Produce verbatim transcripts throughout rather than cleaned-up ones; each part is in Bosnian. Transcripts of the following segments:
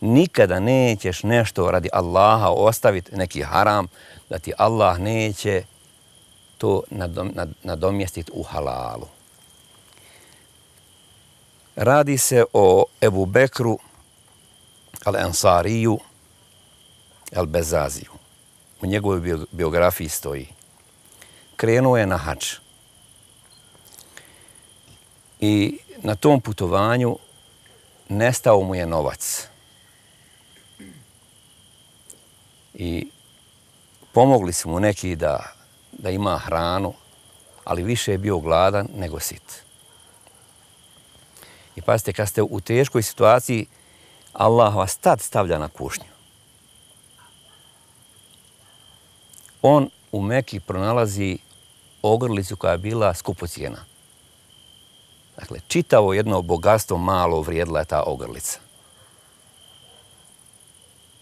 nikada nećeš nešto radi Allaha ostaviti, neki haram, da ti Allah neće to nadom, nad, nadomjestiti u halalu. Radi se o Ebu Bekru al-Ansariju al-Bezaziju. U njegovoj biografiji stoji. Krenuo je na hadž. I na tom putovanju nestao mu je novac. I pomogli su mu neki da, da ima hranu, ali više je bio gladan nego sit. I pazite, kad ste u teškoj situaciji, Allah vas tad stavlja na kušnju. On u Meki pronalazi ogrlicu koja je bila skupocijena. Dakle, čitavo jedno bogatstvo malo vrijedila je ta ogrlica.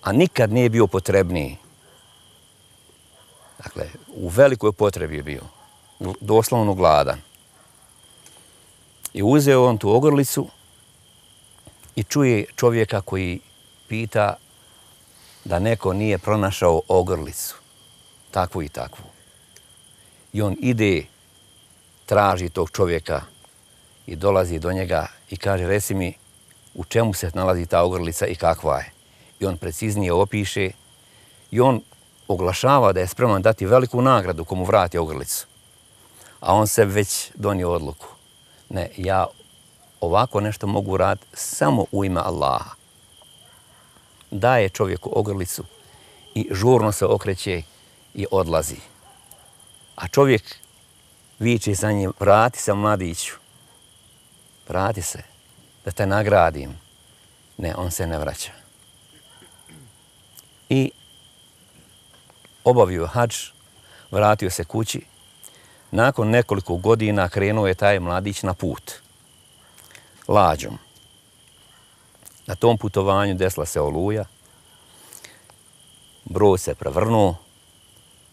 A nikad nije bio potrebniji. Dakle, u velikoj potrebi je bio. Doslovno gladan. I uzeo on tu ogrlicu i čuje čovjeka koji pita da neko nije pronašao ogrlicu. Takvu i takvu. I on ide, traži tog čovjeka i dolazi do njega i kaže, reci mi u čemu se nalazi ta ogrlica i kakva je. I on preciznije opiše i on oglašava da je spreman dati veliku nagradu komu vrati ogrlicu. A on se već donio odluku. Ne, ja ovako nešto mogu raditi samo u ime Allaha. Daje čovjeku ogrlicu i žurno se okreće i odlazi. A čovjek viče za njim, vrati se mladiću, vrati se, da te nagradim. Ne, on se ne vraća. I obavio hadž, vratio se kući. Nakon nekoliko godina krenuo je taj mladić na put. Lađom. Na tom putovanju desila se oluja. Brod se prevrnuo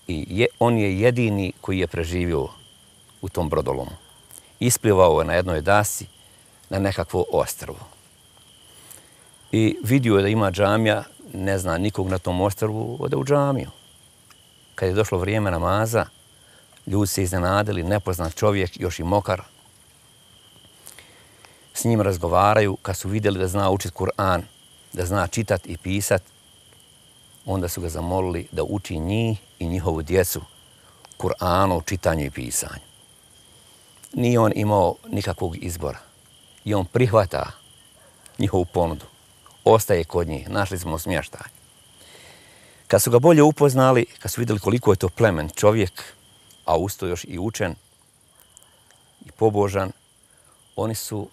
i je, on je jedini koji je preživio u tom brodolomu. Isplivao je na jednoj dasi na nekakvo ostrvo. I vidio je da ima džamija, ne zna nikog na tom ostrvu, ode u džamiju. Kad je došlo vrijeme namaza, ljudi se iznenadili, nepoznat čovjek, još i mokar. S njim razgovaraju, kad su vidjeli da zna učiti Kur'an, da zna čitati i pisat, onda su ga zamolili da uči njih i njihovu djecu Kur'anu, čitanju i pisanju. Nije on imao nikakvog izbora. I on prihvata njihovu ponudu. Ostaje kod njih, našli smo smještaj. Kad su ga bolje upoznali, kad su vidjeli koliko je to plemen čovjek, a usto još i učen i pobožan, oni su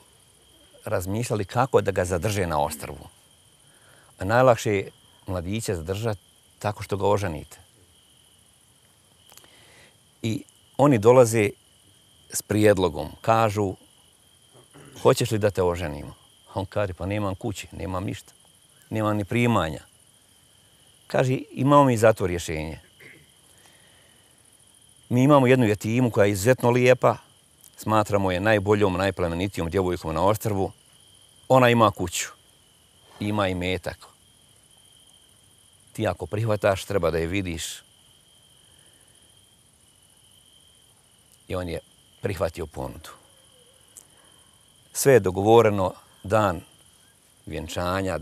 razmišljali kako da ga zadrže na ostrvu. A najlakše je mladića zadržati tako što ga oženite. I oni dolaze s prijedlogom, kažu, hoćeš li da te oženimo? On kaže, pa nemam kući, nemam ništa, nemam ni primanja. Kaže, imamo mi za to rješenje. Mi imamo jednu jetimu koja je izuzetno lijepa, smatramo je najboljom, najplemenitijom djevojkom na ostrvu. Ona ima kuću, ima i metak. Ti ako prihvataš, treba da je vidiš. I on je prihvatio ponudu. Sve je dogovoreno, dan vjenčanja,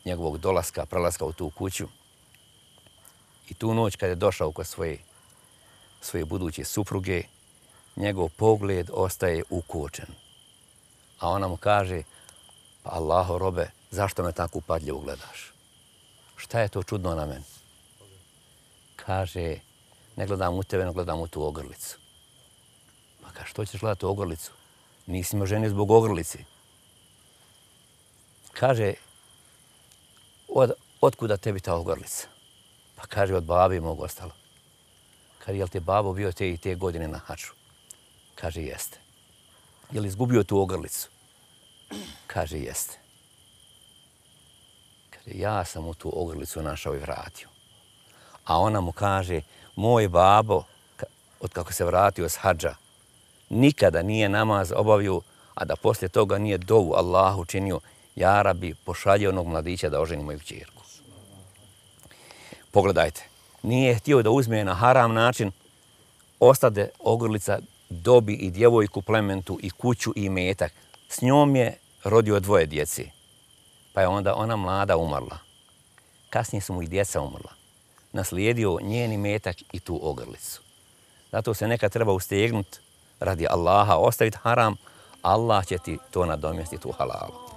njegovog dolaska, prelaska u tu kuću. I tu noć kad je došao kod svoje, svoje buduće supruge, njegov pogled ostaje ukočen. A ona mu kaže, pa Allaho robe, zašto me tako upadljivo gledaš? Šta je to čudno na meni? Kaže, ne gledam u tebe, ne gledam u tu ogrlicu. Pa kaže, što ćeš gledati u ogrlicu? Nisi me ženio zbog ogrlici. Kaže, od, otkuda tebi ta ogrlica? Pa kaže, od babi mog ostalo. Kaže, jel ti babo bio te i te godine na haču? Kaže, jeste. Je li izgubio tu ogrlicu? Kaže, jeste. Kaže, ja sam u tu ogrlicu našao i vratio. A ona mu kaže, moj babo, od kako se vratio s hadža, nikada nije namaz obavio, a da poslije toga nije dovu Allahu činio, ja Rabi, pošalje onog mladića da oženi moju kćerku. Pogledajte, nije htio da uzme na haram način, ostade ogrlica, dobi i djevojku plementu i kuću i imetak. S njom je rodio dvoje djeci, pa je onda ona mlada umrla. Kasnije su mu i djeca umrla. Naslijedio njen imetak i tu ogrlicu. Zato se nekad treba ustegnuti radi Allaha, ostaviti haram, Allah će ti to nadomjestiti u halalu.